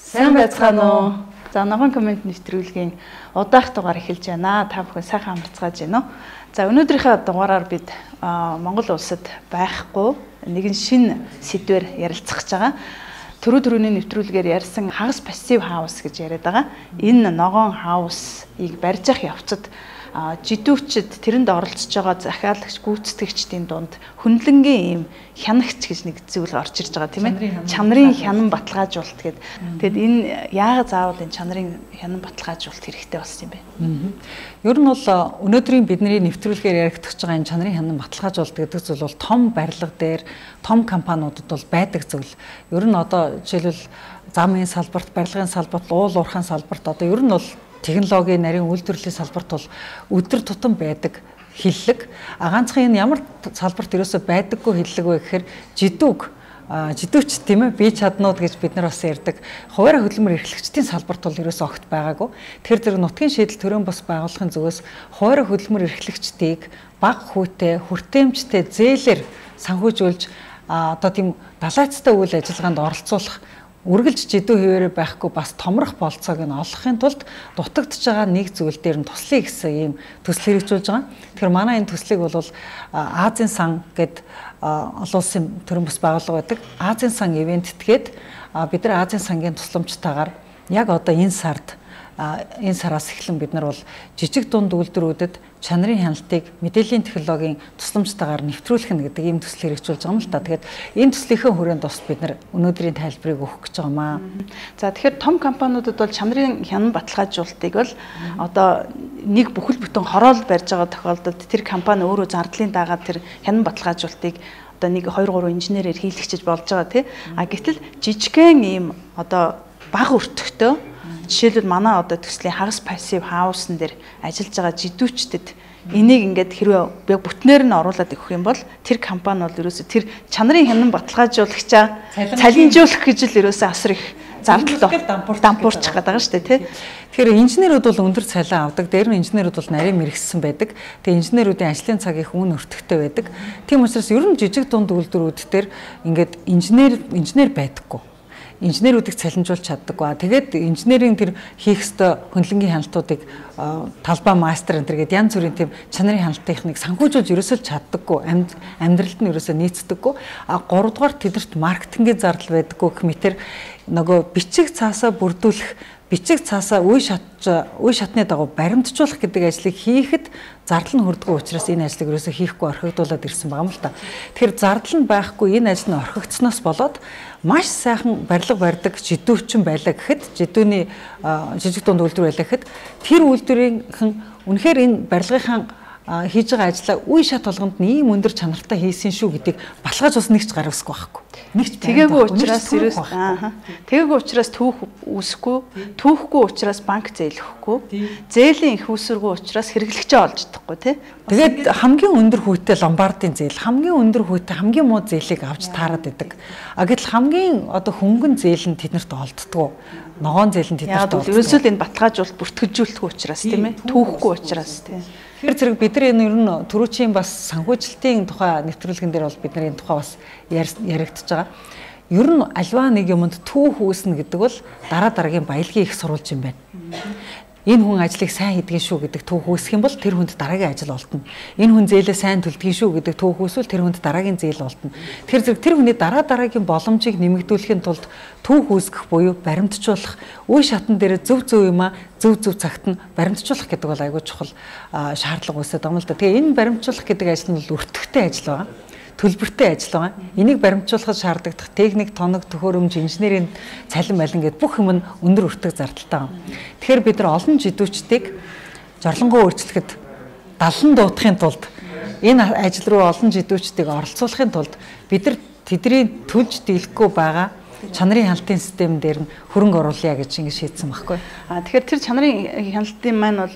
Сайн байцгаана уу? За ногоон коммент нэвтрүүлгийн удаах дугаар эхэлж байна. Та бүхэн сайхан амарцгааж байна уу? За өнөөдрийнхөө дугаараар бид Монгол улсад байхгүй нэгэн шинэ сэдвээр ярилцах гэж байгаа. Түрүүний нэвтрүүлгээр ярьсан хагас пассив хаус гэж яриад байгаа. Энэ ногоон хаусыг барьж явах явцад жидүүчд тэрэнд оролцож байгаа захиалагч гүйцэтгэгчдийн дунд хүнлэнгийн ийм хянагч гэж нэг зүйл орж ирж байгаа тийм ээ. Чанарын хянан баталгаажуулалт гэдэг. Тэгэд энэ яагаад заавал энэ чанарын хянан баталгаажуулалт хэрэгтэй болсон юм бэ? Ер нь бол өнөөдрийн бидний нэвтрүүлгээр яригдчихж байгаа энэ чанарын хянан баталгаажуулалт гэдэг зүйл бол том барилга дээр том компаниудад бол байдаг зүйл. Ер нь одоо жишээлбэл замын салбарт, барилгын салбарт, уул уурхайн салбарт одоо ер нь бол технологийн нарийн үйлдвэрлэлийн салбарт бол өдөр тутам байдаг хиллэг. Ганцхан энэ ямар салбарт ерөөсөй байдаггүй хиллэг вэ гэхээр жидүүч тийм ээ бие чаднууд гэж бид нар бас ярьдаг. Хуваарь хөдөлмөр эрхлэгчдийн салбарт бол ерөөсөй огт байгаагүй. Тэгэхээр зэрэг нутгийн шийдэл төрийн бас байгуулахын зүгээс хуваарь хөдөлмөр эрхлэгчдийг бага хүүтэй, хүртээмжтэй зээлээр санхүүжүүлж одоо тийм далайцтай үйл ажиллагаанд оролцуулах үргэлж жидүү хэвээрээ байхгүй бас томрох болцоог нь олохын тулд дутагдж байгаа нэг зүйл дээр нь туслая гэсэн ийм төсөл хэрэгжүүлж байгаа. Тэгэхээр манай энэ төслийг бол Азийн сан гэд олон улсын төрийн бас байгууллага байдаг. Азийн сан ивентгээд бид нар Азийн сангийн тусламжтайгаар яг одоо энэ сараас эхлэн бид нар бол жижиг дунд үйлдвэрүүдэд чанарын хяналтыг мэдээллийн технологийн тусламжтайгаар нэвтрүүлэх нь гэдэг ийм төсөл хэрэгжүүлж байгаа юм л та. Тэгээд энэ төслийнхээ хүрээнд бас бид нар өнөөдрийн тайлбарыг өгөх гэж байгаамаа. За тэгэхээр том компаниудад бол чанарын хянан баталгаажуулалтыг бол одоо нэг бүхэл бүтэн хороол барьж байгаа тохиолдолд тэр компани өөрөө зардлын дагаад тэр хянан баталгаажуулалтыг одоо 1 2 3 инженерээр хийлгэж болж байгаа тий. Гэтэл жижигхэн ийм одоо бага өртөгтэй жишээлбэл манай одоо төслийн хагас пассив хаусын дээр ажиллаж байгаа жидүүчдэд энийг ингээд хэрвээ яг бүтнээр нь оруулаад өгөх юм бол тэр компани бол ерөөсө тэр чанарын хянан баталгаажуулагчаа цалинжуулах гэж л ерөөсө асар их зардал дампуурчих гэдэг байгаа шүү дээ тий. Тэгэхээр инженерүүд бол өндөр цалин авдаг, дээр нь инженерүүд бол нарийн мэрэгсэн байдаг. Тэгээ инженерүүдийн ажлын цаг их үн өртөгтэй байдаг. Тийм учраас ер нь жижиг дунд үйлдвэрүүд дээр ингээд инженер байдаггүй. Инженерүүдийг цалинжуулж чаддаггүй. Тэгээд инженерийн тэр хийх ёстой хөндлөнгийн хяналтуудыг талбай мастер энэ гэдэг янз бүрийн тийм чанарын хяналт техник санхүүжүүлж ерөөсөө чаддаггүй. Амьдралд нь ерөөсөө нийцдэггүй. 3 дугаар тэдэрт маркетингийн зардал байдаггүй гэх мэтэр нөгөө бичиг цаасаа бүрдүүлэх, бичиг цаасаа үе шатны дагуу баримтжуулах гэдэг ажлыг хийхэд зардал нь хүрдэггүй учраас энэ ажлыг ерөөсөө хийхгүй орхигдуулаад ирсэн байгаа юм л та. Тэгэхээр зардал нь байхгүй энэ ажил нь орхигдсноос болоод маш сайхан барилга барьдаг жидүүчин байлаа гэхэд жидүүний жижиг дунд үйлдвэр байлаа гэхэд тэр үйлдвэрийнхэн үнэхээр энэ барилгынхаа хийж байгаа ажлаа үе шат болгонд нь ийм өндөр чанартай хийсэн шүү гэдгийг баталгааж бас нэгч гаргахгүй байхгүй. Нэгч тэгээгүй учраас тэгээгүй учраас түүх үүсэхгүй, түүхгүй учраас банк зээлэхгүй, зээлийн их үүсэргүй учраас хэрэглэгчээ олж чадахгүй тий. Тэгээд хамгийн өндөр хүүтэй ломбардын зээл, хамгийн өндөр хүүтэй хамгийн муу зээлийг авч таарад идэг. Гэтэл хамгийн одоо хөнгөн зээл нь тэднэрт олддгоо. Ногоон зээл нь тэднэрт олддгоо. Ерөөсөө л энэ баталгаажуулалт бүртгэжүүлэхгүй учраас тийм ээ. Түүхгүй учраас тийм. Тэгэхээр зэрэг бид нар энэ ер нь түрүүчийн бас санхүүжилтийн тухай нэвтрүүлгэн дээр бол бид нар энэ тухай бас яригдчихж байгаа. Ер нь альва нэг юмд түүх үүснэ гэдэг бол дараа дараагийн баялагын их сурвалж юм байна. Энэ хүн ажлыг сайн хийдгэн шүү гэдэг түүх үүсэх юм бол тэр хүнд дараагийн ажил олдно. Энэ хүн зээлээ сайн төлдгөн шүү гэдэг түүх үүсвэл тэр хүнд дараагийн зээл олдно. Тэгэхээр зэрэг тэр хүний дараагийн боломжийг нэмэгдүүлэхийн тулд түүх үүсгэх буюу баримтжуулах, үе шатн дээр зөв юмаа зөв цагт нь баримтжуулах гэдэг бол айгүй чухал шаардлага үүсэж байгаа юм л да. Тэгээ энэ баримтжуулах гэдэг ажил нь бол өртөгтэй ажил байна. Төлбөртэй ажил байгаа. Энийг баримтжуулахад шаардлагатай техник, тоног, төхөөрөмж, инженерийн цалин байлан гэдэг бүх юм нь өндөр өртөг зардалтай байна. Тэгэхээр бид нар олон жидүүчдийг жорлонгоо өөрчлөхөд далан дуутахын тулд энэ ажил руу олон жидүүчдийг оролцуулахын тулд бид нар тэдний төлж дийлэхгүй байгаа чанарын хяналтын систем дээр нь хөрөнгө оруулъя гэж ингэ шийдсэн байхгүй. Тэгэхээр тэр чанарын хяналтын маань бол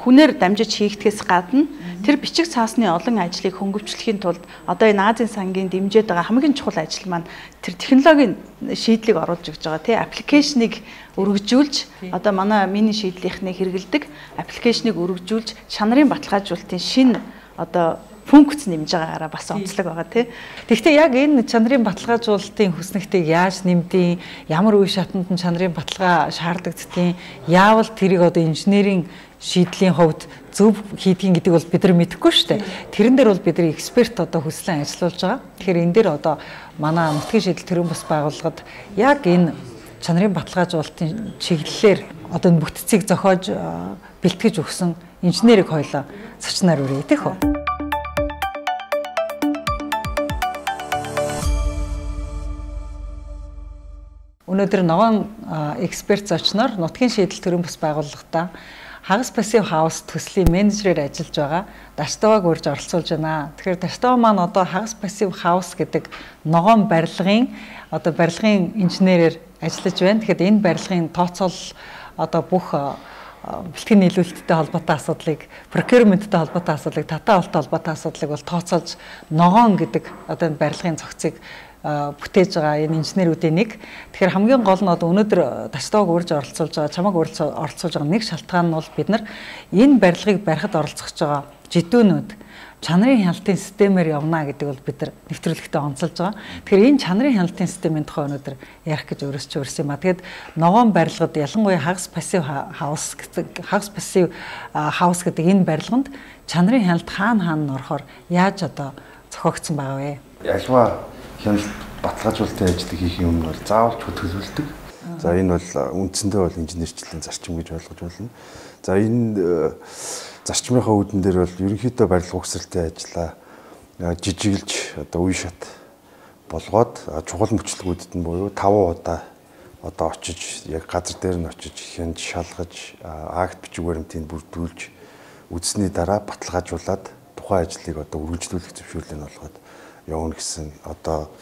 хүнээр дамжиж хийгдгээс гадна тэр бичиг цаасны олон ажлыг хөнгөвчлөхийн тулд одоо энэ Азийн сангийн дэмжиж байгаа хамгийн чухал ажил маань тэр технологийн шийдлийг оруулж өгч байгаа тий аппликейшнийг өргөжүүлж одоо манай миний шийдлийнхнийг хэрэгэлдэг аппликейшнийг өргөжүүлж чанарын баталгаажуулалтын шинэ одоо функц нэмж байгаагаараа бас онцлог байгаа тий. Тэгэхдээ яг энэ чанарын баталгаажуулалтын хүснэгтийг яаж нэмдیں, ямар үе шатанд нь чанарын баталгаа шаардлагддیں, яавал тэрийг одоо инженерийн шийдлийн хувьд зөв хийдгийг гэдэг бол бид нар мэдэхгүй шүү дээ. Тэрэн дээр бол бид нар эксперт одоо хүслэн ажиллуулж байгаа. Тэгэхээр энэ дээр одоо манай нутгийн шийдэл төрийн бас байгууллагад яг энэ чанарын баталгаажуулалтын чиглэлээр одоо энэ бүтцийг зохиож бэлтгэж өгсөн инженерийг хоёлоо зочноор үрээ тийм үү? Өнөөдөр ногоон эксперт зочноор нутгийн шийдэл төрийн бас байгууллагата хагас пассив хаус төслийн менежерээр ажиллаж байгаа Дашдаваг урьж оролцуулж байна. Тэгэхээр Дашдава маань одоо хагас пассив хаус гэдэг ногоон барилгын одоо барилгын инженерээр ажиллаж байна. Тэгэхээр энэ барилгын тооцоол одоо бүх бэлтгэн нийлүүлэлттэй холбоотой асуудлыг, procurement-тэй холбоотой асуудлыг, татаа авалт холбоотой асуудлыг бол тооцоолж ногоон гэдэг одоо энэ барилгын цогцыг бүтээж байгаа энэ инженерүүдийн нэг. Тэгэхээр хамгийн гол нь одоо өнөөдөр Дашдаваг урьж оролцуулж байгаа, чамайг оролцуулж байгаа нэг шалтгаан нь бол бид нар энэ барилгыг барихад оролцож байгаа жидүүнүүд чанарын хяналтын системээр явна гэдэг бол бид нар нэвтрүүлэгтээ онцолж байгаа. Тэгэхээр энэ чанарын хяналтын системийн тухай өнөөдөр ярих гэж өөрөөс ч өөрсөн юм а. Тэгээд ногоон барилгад ялангуяа хагас пассив хаус гэдэг энэ барилганд чанарын хяналт хаана орохоор яаж одоо зохиогдсон байгаа вэ? Альва хяналт баталгаажуулалтын ажлыг хийхин өмнө бол заавал төлөвлөлдөг. За энэ бол үндсэндээ бол инженерчлэлийн зарчим гэж ойлгож байна. За энэ зарчмынхаа үүдэн дээр бол ерөнхийдөө барилга угсралтай ажиллаа жижиглж одоо үе шат болгоод чухал мөчлөгүүдэд нь буюу 5 удаа одоо очиж яг газар дээр нь очиж хянж шалгаж акт бичиг баримтыг бүрдүүлж үзсний дараа баталгаажуулаад тухайн ажлыг одоо үргэлжлүүлэх зөвшөөрлийг олгоод явна гэсэн одоо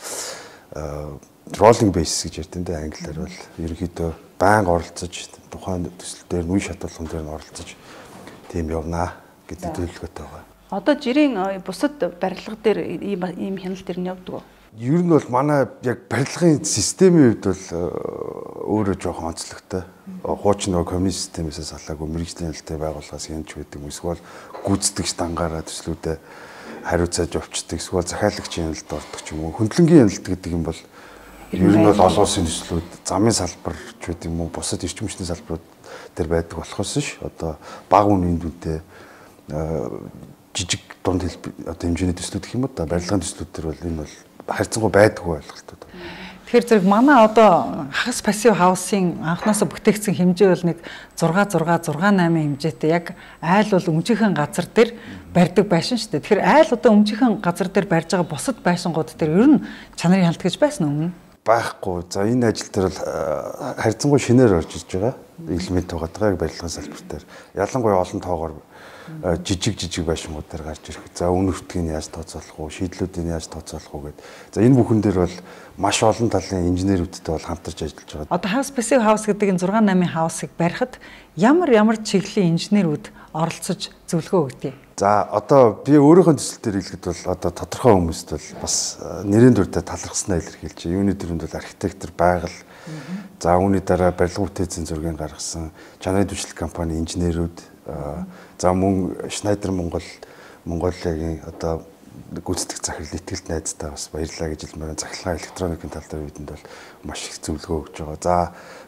rolling basis гэж ярьдэн англиар бол ерөнхийдөө байнга оролцож тухайн төсөл дээр үе шат болгон дээр нь оролцож тийм явна гэдэг төлөвлөгөөтэй байгаа. Одоо жирийн бусад барилга дээр ийм хяналт төр нь явдаг уу? Ер нь бол манай яг барилгын системийн хувьд бол өөрөө жоохон онцлогтой. Хуучин нөгөө коммунист системээс салаагүй мэрэгжлийн хяналтын байгууллагаас хянж байдаг. Эсвэл гүйцэтгэгч дангаараа төслүүдэд хариуцааж явцдаг. Эсвэл захиалагчийн хяналтад ордог ч юм уу. Хөндлөнгийн хяналт гэдэг юм бол ер нь бол олон улсын төслүүд замын салбар ч гэдэг юм уу бусад эрчим хүчний салбарууд дээр байдаг болохоос ш одоо бага үнийн дүнтэй жижиг дунд одоо хэмжээний төслүүд гэх юм уу да барилгын төслүүд төр бол энэ бол харьцангуй байдаггүй ойлголтууд. Тэгэхээр зэрэг манай одоо хагас пассив хаусын анхнаасаа бүтээгдсэн хэмжээ бол нэг 6 хэмжээтэй яг айл бол өмчийнхэн газар дээр барьдаг байшин шүү дээ. Тэгэхээр айл одоо өмчийнхэн газар дээр барьж байгаа бусад байшингууд дээр ер нь чанарын хяналт гэж байсан өмнө байхгүй. За энэ ажил дээр бол харьцангуй шинээр орж ирж байгаа элемент байгаа яг барилгын салбар дээр. Ялангуяа олон тоогоор жижиг байшингууд дээр гарч ирэх. За үн өртгийг яаж тооцоолох вэ? Шийдлүүдийг яаж тооцоолох вэ гэдэг. За энэ бүхэн дээр бол маш олон талын инженерүүдтэй бол хамтарч ажиллаж байгаа. Одоо хагас пассив хаус гэдэг энэ 6-8 хаусыг барихад ямар чиглэлийн инженерүүд оролцож зөвлөгөө өгдөг. За одоо би өөрийнхөө төсөл дээр хэлэхэд бол одоо тодорхой хүмүүст бол бас нэрийн дүрдээ талархснаа илэрхийлж. Юуны төрөнд бол архитектор, байгаль. За үүний дараа барилга бүтээцийн зургийг гаргасан чанарын дэвшлэх компани инженерүүд. За мөн Schneider Монголиагийн одоо гүйцэтгэх захирал ихтгэлт найзтай бас баярлалаа гэж хэлмээр захиргааны электроникийн тал дээр бидэнд бол маш их зөвлөгөө өгж байгаа. За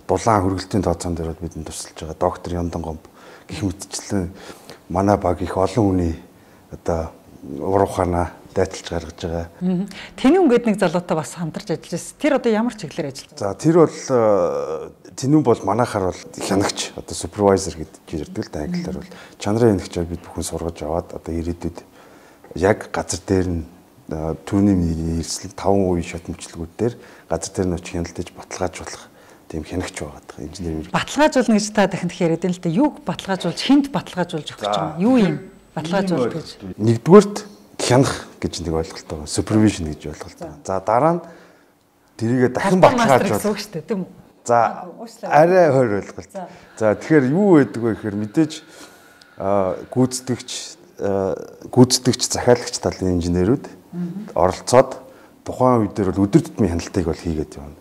дулаан хөргөлтийн тооцоон дээр бидэнд тусалж байгаа. Доктор Яндан Гомб гэх мэтчлэн манай баг их олон хүний одоо уруухана дайталж гаргаж байгаа. Тэнүүн гэдэг нэг залуутай бас хамтарч ажиллаж байна. Тэр одоо ямар чиглэлээр ажиллаж байна? За тэр бол тэнүүн бол манайхаар бол хянагч одоо супервайзер гэж ярьдаг л да англиар бол чанарын хянагчаар бид бүхэн сургаж аваад одоо ирээдүйд яг газар дээр нь түүний эрсдэл 5 үе шат мөчлөгүүд дээр газар дээр нь очиж хяналтаж баталгаажуулах тийм хянагч байгаа инженер. Баталгаажуулна гэж та дахин яриад байна л да. Юуг баталгаажуулж, хинт баталгаажуулж өгч байгаа юм? Юу юм? Баталгаажуулалт гэж. Нэгдүгээрт хянах гэж нэг ойлголт байгаа. Супервижн гэж ойлголт байгаа. За дараа нь тэрийгэ дахин баталгаажуулах шүү дээ, тийм үү? За арай хойр ойлголт. За тэгэхээр юу байдаг вэ гэхээр мэдээж гүйцэтгэгч захиалагч талын инженерүүд оролцоод тухайн үед дээр бол өдөр тутмын хяналтыг бол хийгээд явна.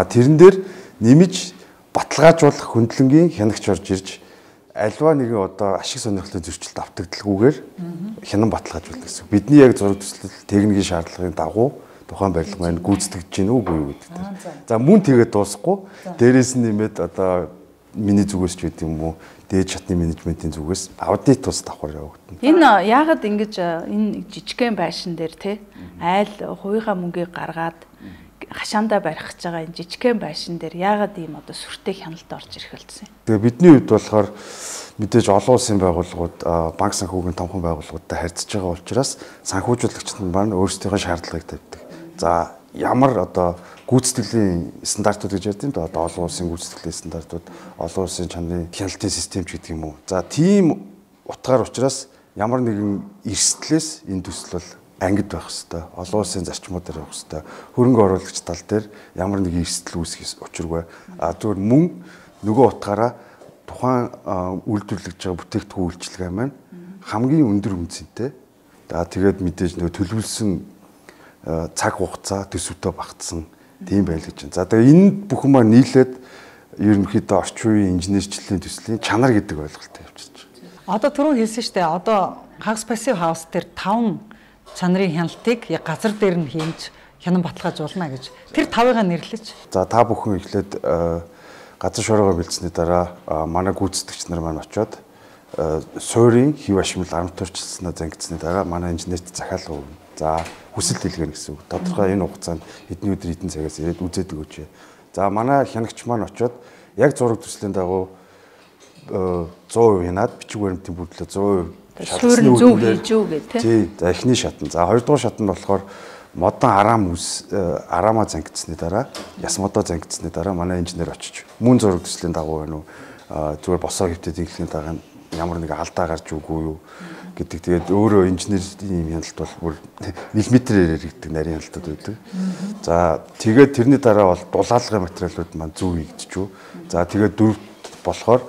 Тэрэн дээр нэмж баталгаажуулах хөндлөнгийн хянагч орж ирж альва нэгэн одоо ашиг сонирхлын зөрчилд автагдalgүйгээр хянан баталгаажуулдаг гэсэн. Бидний яг зураг төслөл техникийн шаардлагын дагуу тухайн барилга маань гүйцэтгэж гин үгүй юу гэдэг. За мөн тэгээд дуусахгүй дээрээс нь нэмээд одоо миний зүгээс ч гэдэг юм уу дээд шатны менежментийн зүгээс аудит тус давхар явагдана. Энэ яагаад ингэж энэ жижигхэн байшин дээр те айл хувийнхаа мөнгийг гаргаад хашаандаа барих гэж байгаа энэ жижигхэн байшин дээр яагаад ийм одоо сүртэй хяналт орж ирэх болсон юм? Тэгээ бидний хувьд болохоор мэдээж олон улсын байгууллагууд банк санхүүгийн томхон байгууллагуудтай харьцаж байгаа учраас санхүүжуулагчид нь маань өөрсдийнхөө шаардлагыг тавьдаг. За ямар одоо гүйцэтгэлийн стандартууд гэж ярьдیں۔ Одоо олон улсын гүйцэтгэлийн стандартууд, олон улсын чанарын хяналтын систем ч гэдэг юм уу. За тийм утгаар учраас ямар нэгэн эрсдлээс энэ төсөл бол ангид байх хэвээр, олон улсын зарчмуудаар явах хэвээр, хөрөнгө оруулагч тал дээр ямар нэг эрсдэл үүсэх учиргүй. Зөвхөн мөн нөгөө утгаараа тухайн үйлдвэрлэж байгаа бүтээгдэхүүн үйлчилгээ маань хамгийн өндөр үнцэнтэй. Тэгээд мэдээж нөгөө төлөвлөсөн цаг хугацаа төсөвтэй багтсан тийм байл гэж байна. За тэгээ энэ бүхэн маань нийлээд ерөнхийдөө орчин үеийн инженерчлэлийн төслийн чанар гэдэг ойлголттой явчихж байна. Одоо түрүү хэлсэн шүү дээ. Одоо Hag's Passive House дээр 5 чанарын хяналтыг яг газар дээр нь хийж хянан баталгаажуулна гэж. Тэр 5-ыг нэрлэж. За та бүхэн эхлээд газар шуурга бэлдсэний дараа манай гүйцэтгэгч нар маань очиод суурийн хэв ашмал арматурчлснаа зангидсны дараа манай инженерт захиалга өгнө. За хүсэл дэлгэнэ гэсэн үг. Тодорхой энэ хугацаанд хэдэн өдөр хэдэн цагаас ирээд үзээд өгөөч. За манай хянагч маань очиод яг зураг төслийн дагуу 100% хянаад бичиг баримтын бүтлээ 100% шалгасны зөв хийж үү гэх тий. За эхний шатн. За хоёрдугаар шатнд болохоор модон араамаа зангидсны дараа, яс модоо зангидсны дараа манай инженер очиж мөн зураг төслийн дагуу байна уу? Зүгээр босоо хөвтөд иглэхийн дараа ямар нэг алдаа гарч үгүй юу гэдэг. Тэгээд өөрөө инженерийн хяналт бол бүр миллиметрээр гэдэг нарийн хяналтууд байдаг. За тэгээд тэрний дараа бол дулаалгын материалууд маань зөв хийгдчихв. За тэгээд дөрөвт болохоор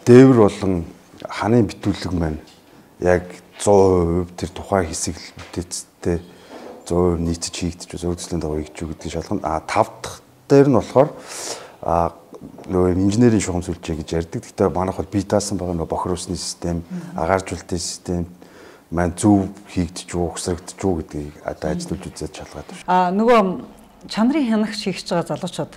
дээвэр болон ханын битүүлэг маань яг 100% тэр тухайн хэсэг бүтээцтэй 100% нийцэж хийгдчих, зураг төслийн дагуу хийгдчих гэдгийг шалгана. 5 дахь дээр нь болохоор нөгөө инженерийн шугам сүлжээ гэж ярьдаг. Гэхдээ манайх бол бие даасан байгаа нөгөө бохирусны систем, агааржуулалтын систем маань зөв хийгдэж үү, ухсрагдж үү гэдгийг одоо ажилтнууд үзээд шалгаад байна. Нөгөө чанарын хянагч хийж байгаа залуучууд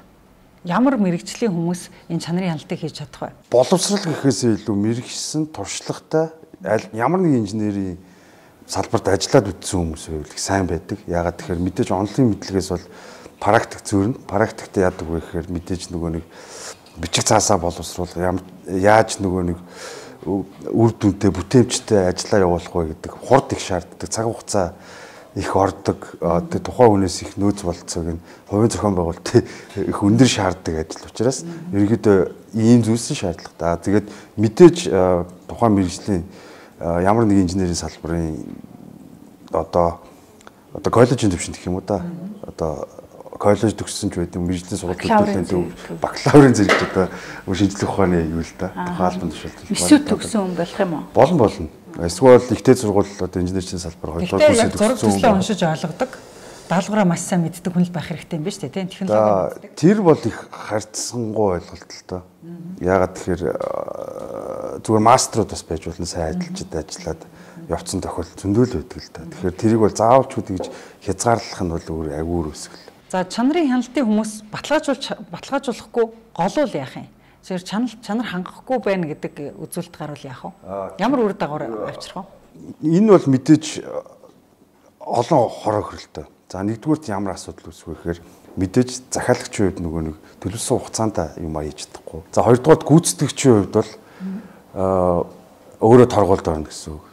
ямар мэрэгжлийн хүмүүс энэ чанарын хяналтыг хийж чадах вэ? Боловсрал гэхээсээ илүү мэрэгчсэн, туршлагатай ямар нэг инженерийн салбарт ажиллаад үтсэн хүмүүс байвал сайн байдаг. Яагаад тэгэхээр мэдээж онлын мэдлэгээс бол практик зөрнө. Практикт яадаг вэ гэхээр мэдээж нөгөө нэг бичиг цаасаа боловсруулах яаж нөгөө нэг үр дүнтэй бүтээмжтэй ажиллаа явуулах вэ гэдэг хурд их шаарддаг. Цаг хугацаа их ордог. Тэгээ тухайн хүнээс их нөөц болцоог нь хувийн зохион байгуулалт их өндөр шаарддаг ажил учраас ерөнхийдөө ийм зүйлсэн шаардлага. Тэгээд мэдээж тухайн мэргэжлийн ямар нэг инженерийн салбарын одоо коллежийн төвшөнд гэх юм уу да. Одоо коллеж төгссөн ч байдаг мэргэжлийн сургуулийн төлөвлөлтөнд бакалаврын зэрэг одоо шинжлэх ухааны юу л да. Тухайн албан тушаалтын эсвэл төгссөн хүн болох юм уу? Болно. Эсвэл ихтэй сургууль одоо инженерийн салбар хоёрдугаар курсыг төгссөн хүн. Зураг уншиж ойлгодог. Даалгавраа маш сайн мэддэг хүн л байх хэрэгтэй юм биш үү? Технологи. Тэр бол их харьцангуй ойлголт л доо. Яагаад тэгэхээр зүгээр мастерууд бас байж болно сайн ажиллаж ажиллаад явцсан тохиолдол зөндөл байдаг л да. Тэгэхээр тэрийг бол заавалч үгүй гэж хязгаарлах нь бол өөр агуур өсгөл. За чанарын хяналтын хүмүүс баталгаажуулахгүй голуул яах юм? Зөвхөн чанар хангахгүй байна гэдэг үзүүлэлт гарвал яах вэ? Ямар үр дагавар авчрах вэ? Энэ бол мэдээж олон хороо хөрөлтөө. За нэгдүгürt ямар асуудал үүсвэ гэхээр мэдээж захиалагчийн хувьд нөгөө нэг төлөвлөсөн хугацаанд юм хийж чадахгүй. За хоёрдугаарт гүйцэтгэгчийн хувьд бол өөрөө торгуульд орно гэсэн үг.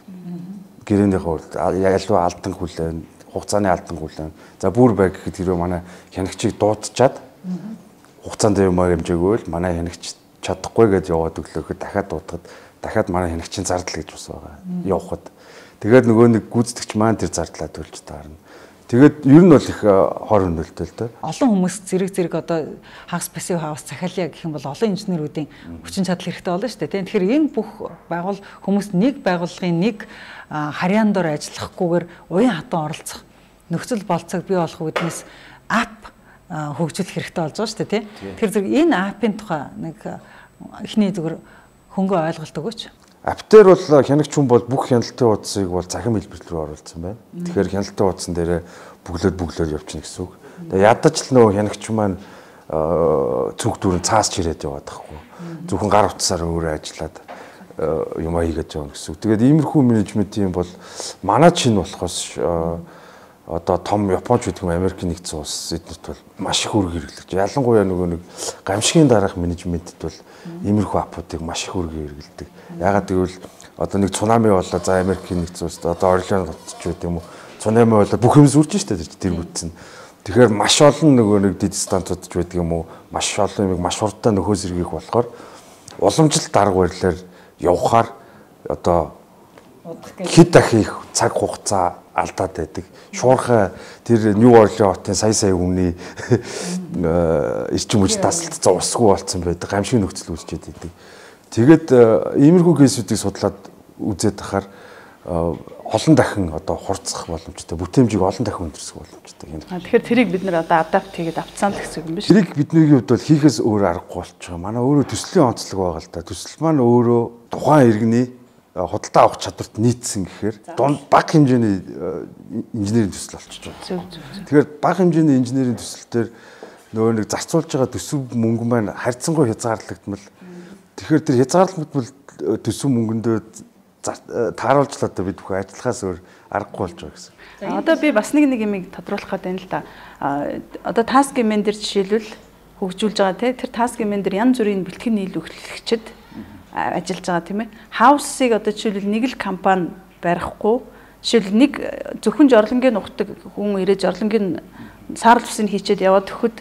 Гэрээнийхээ хувьд ялваа алдан хүлээн, хугацааны алдан хүлээн. За бүр бай гэхэд хэрвээ манай хянагчийг дуудчихад хугацаанд юм хэмжээгүй л манай хянагч чадахгүй гэж яваад өглөөхөд дахиад дуудахад дахиад манай хянагчийн зардал гэж бас байгаа. Явахад. Тэгээд нөгөө нэг гүйцэтгэгч маань тэр зардлаа төлж таарна. Тэгээд ер нь бол их хор хөнөөлтөө л дээ. Олон хүмүүс зэрэг одоо Hag's Passive House захиалъя гэх юм бол олон инженеруудын хүчин чадал хэрэгтэй болно шүү дээ. Тэгэхээр энэ бүх хүмүүс нэг байгууллагын нэг харьяан дор ажиллахгүйгээр уян хатан оролцох нөхцөл болцоог бий болох үүднээс ап хөгжүүлэх хэрэгтэй болж байгаа шүү дээ. Тэр зэрэг энэ апын тухай нэг эхний зүгээр хөнгөө ойлголт өгөөч. Аптер бол хянагч хүн бол бүх хяналтын хуудсыг бол захин хэлбэр рүү оруулсан байна. Тэгэхээр хяналтын хуудсан дээр бүглөөд явчихна гэсэн үг. Тэгээ ядаж л нөгөө хянагч маань цүнх дүүрэн цаас чирээд яваад байхгүй. Зөвхөн гар утсаар өөрөө ажиллаад юм хийгээд явна гэсэн үг. Тэгээд иймэрхүү менежмент юм бол манай чинь болохоос одоо том Японч гэдэг юм Америкийн нэгдсэн улс эднэрт бол маш их үүрэг хэрэглэж. Ялангуяа нөгөө нэг гамшигын дараах менежментэд бол иймэрхүү апуудыг маш их үүрэг хэрэглэдэг. Ягаад гэвэл одоо нэг цунами болоо за Америкийн нэгдсэн улсад одоо орлын хотч гэдэг юм уу цунами болоо бүх юм сүрж штэ тэр бүтсэн. Тэгэхээр маш олон нөгөө нэг дид стантууд ч байдаг юм уу маш олон юм маш хурдтай нөхөө зэргийг болохоор уламжлалт арга барилаар явхаар одоо хэд дахих цаг хугацаа алдаад байдаг. Шуурхай тэр Нью Орлеан хотын сая үнийн эрчим хүч тасалдсан усгүй болсон байдаг. Гамшиг нөхцөл үүсчихэд байдаг. Тэгээд иймэрхүү кейсүүдийг судлаад үзээд тахаар олон дахин одоо хурцсах боломжтой, бүтээмжийг олон дахин өндөрсөх боломжтой. Тэгэхээр тэрийг бид нэр одоо адапт хийгээд авцсан л гэсэн юм биш үү? Тэрийг бидний хувьд бол хийхээс өөр аргагүй болчихоо. Манай өөрөө төслийн онцлог байгаа л да. Төсөл маань өөрөө тухайн иргэний худалдаа авах чадварт нийцсэн гэхээр дунд бага хэмжээний инженерийн төсөл болчихж байгаа. Тэгэхээр бага хэмжээний инженерийн төсөл дээр нөгөө нэг зарцуулж байгаа төсөв мөнгө маань харьцангуй хязгаарлагдмал. Тэгэхээр тэр хязгаарлагдмал төсөв мөнгөндөө тааруулжлаа одоо бид бүхэн ажиллахаас өөр аргагүй болж байгаа гэсэн. Одоо би бас нэг юмыг тодруулах гэдэг нь л да. Одоо task man дээр жишээлбэл хөгжүүлж байгаа тэр task man дээр янз бүрийн бэлтгэн нийлүүлэгчид ажиллаж байгаа тийм ээ. Хаусыг одоо жишээлбэл нэг л компани барихгүй жишээлбэл нэг зөвхөн жорлонгийн нухдаг хүн ирээд жорлонгийн саарл усыг хийчихэд яваад өгөхөд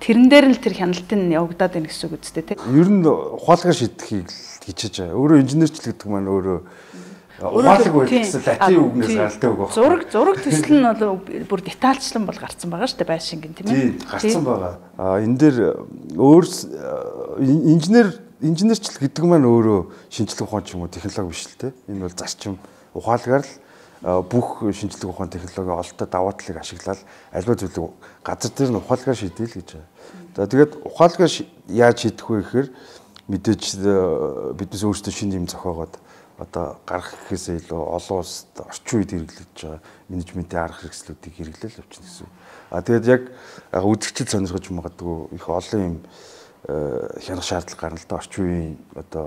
тэрэн дээр л тэр хяналтын явагдаад байна гэсэн үг үстэй тийм. Ер нь ухаалгаар шийдэхийг л хичээж байгаа. Өөрөө инженерчлэг гэдэг маань өөрөө ухаалаг үйлдэлсэн латин үгнээс гаралтай үг байна. Зураг төсөл нь бол бүр детальчлан бол гарсан байгаа шүү дээ байшингийн тийм ээ. Тийм гарсан байгаа. Энэ дээр өөр инженерчлэг гэдэг маань өөрөө шинжлэх ухаан ч юм уу технологи биш л те. Энэ бол зарчим ухаалгаар л бүх шинжлэх ухаан технологи ололттой даваа талыг ашиглаад альва зүйлийг газар дээр нь ухаалгаар шийдээл гэж байна. За тэгээд ухаалгаар яаж шийдэх вэ гэхээр мэдээж биднээс өөрсдөө шинэ юм зохиогоод одоо гарах гэхээсээ илүү олон улсад орчин үед хэрэглэж байгаа менежментийн арга хэрэгслүүдийг хэрэглээл явчихна гэсэн. Тэгээд яг үзэгчд сонирхож магадгүй их олон юм хянах шаардлага гарна л да орчин үеийн одоо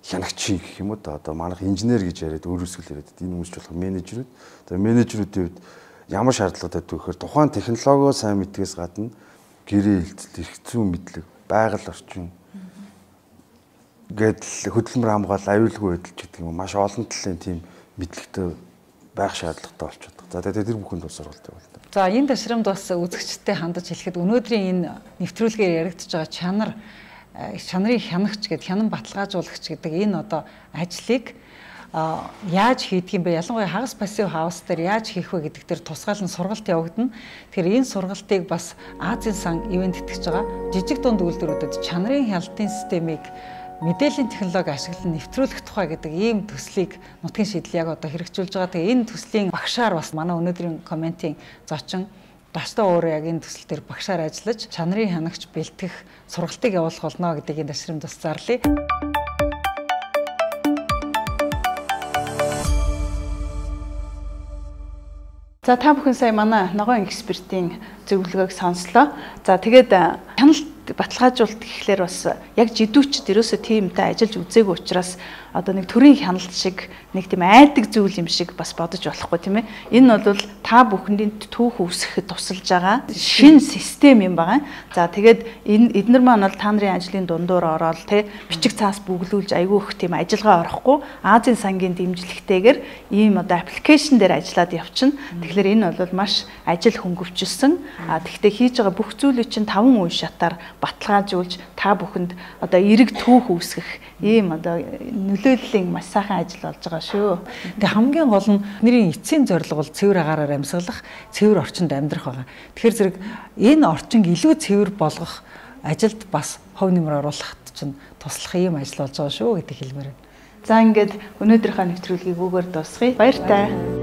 хянагчийн гэх юм уу да одоо манайх инженер гэж яриад өөрөөсөө яриад энэ хүмүүс ч болох менежерүүд. За менежерүүдийн хувьд ямар шаардлагатай вэ гэхээр тухайн технологио сайн мэдгээс гадна гэрээ хэлцэл эрх зүйн мэдлэг, байгаль орчин гэдэл хөдөлмөр хамгаалал аюулгүй байдал гэдэг юм маш олон талын тийм мэдлэгтэй байх шаардлагатай болчиход байгаа. За тэгээд тэр бүхэнд бас сургалт явуулдаг. За энэ ташрамд бас үзэгчтэй хандаж хэлэхэд өнөөдрийн энэ нэвтрүүлгээр яригдж байгаа чанарын хянагч гэдэг хянан баталгаажуулагч гэдэг энэ одоо ажлыг яаж хийдэг юм бэ? Ялангуяа хагас пассив хаус дээр яаж хийх вэ гэдэг дээр тусгаалan сургалт явагдана. Тэгэхээр энэ сургалтыг бас Азийн сан ивент итгэж байгаа жижиг дунд үйлдвэрүүдэд чанарын хяналтын системийг мэдээллийн технологи ашиглан нэвтрүүлэх тухай гэдэг ийм төслийг нутгийн шийдэл яг одоо хэрэгжүүлж байгаа. Тэгээ энэ төслийн багшаар бас манай өнөөдрийн комментийн зочин Баштаа өөрөө яг энэ төсөл дээр багшаар ажиллаж чанарын хянагч бэлтгэх сургалтыг явуулах болно гэдэг энэ ташрамд бас зарлая. За та бүхэн сая манай ногоон экспертийн зөвлөгөөг сонслоо. За тэгээд хяналт баталгаажуулалт гэхлээр бас яг жидүүчд ерөөсөө тиймтэй ажиллаж үзээгүй учраас одоо нэг төрийн хяналт шиг нэг тийм айдаг зүйл юм шиг бас бодож болохгүй тийм ээ. Энэ бол та бүхэндээ түүх үүсгэхэд тусалж байгаа шинэ систем юм байгаа. За тэгээд эднэр маань бол та нарын ажлын дундуур ороод те бичиг цаас бүглүүлж айгүй их тийм ажиллагаа орохгүй Азийн сангийн дэмжлэгтэйгээр ийм одоо аппликейшн дээр ажиллаад явчихна. Тэгэхээр энэ бол маш ажил хөнгөвчлсөн. Тэгвэл хийж байгаа бүх зүйлийг чинь 5 үе шатаар баталгаажуулж та бүхэнд одоо эрэг түүх үүсгэх ийм одоо нөлөөллийн маш сайхан ажил болж байгаа шүү. Тэгээ хамгийн гол нь бидний эцсийн зорилго бол цэвэр агаараар амьсгалах, цэвэр орчинд амьдрах байгаа. Тэгэхээр зэрэг энэ орчинг илүү цэвэр болгох ажилд бас хувь нэмэр оруулахад чинь туслах ийм ажил болж байгаа шүү гэдэг хэлмээр байна. За ингээд өнөөдрийнхөө нэвтрүүлгийг үгээр дуусгая. Баяр таа.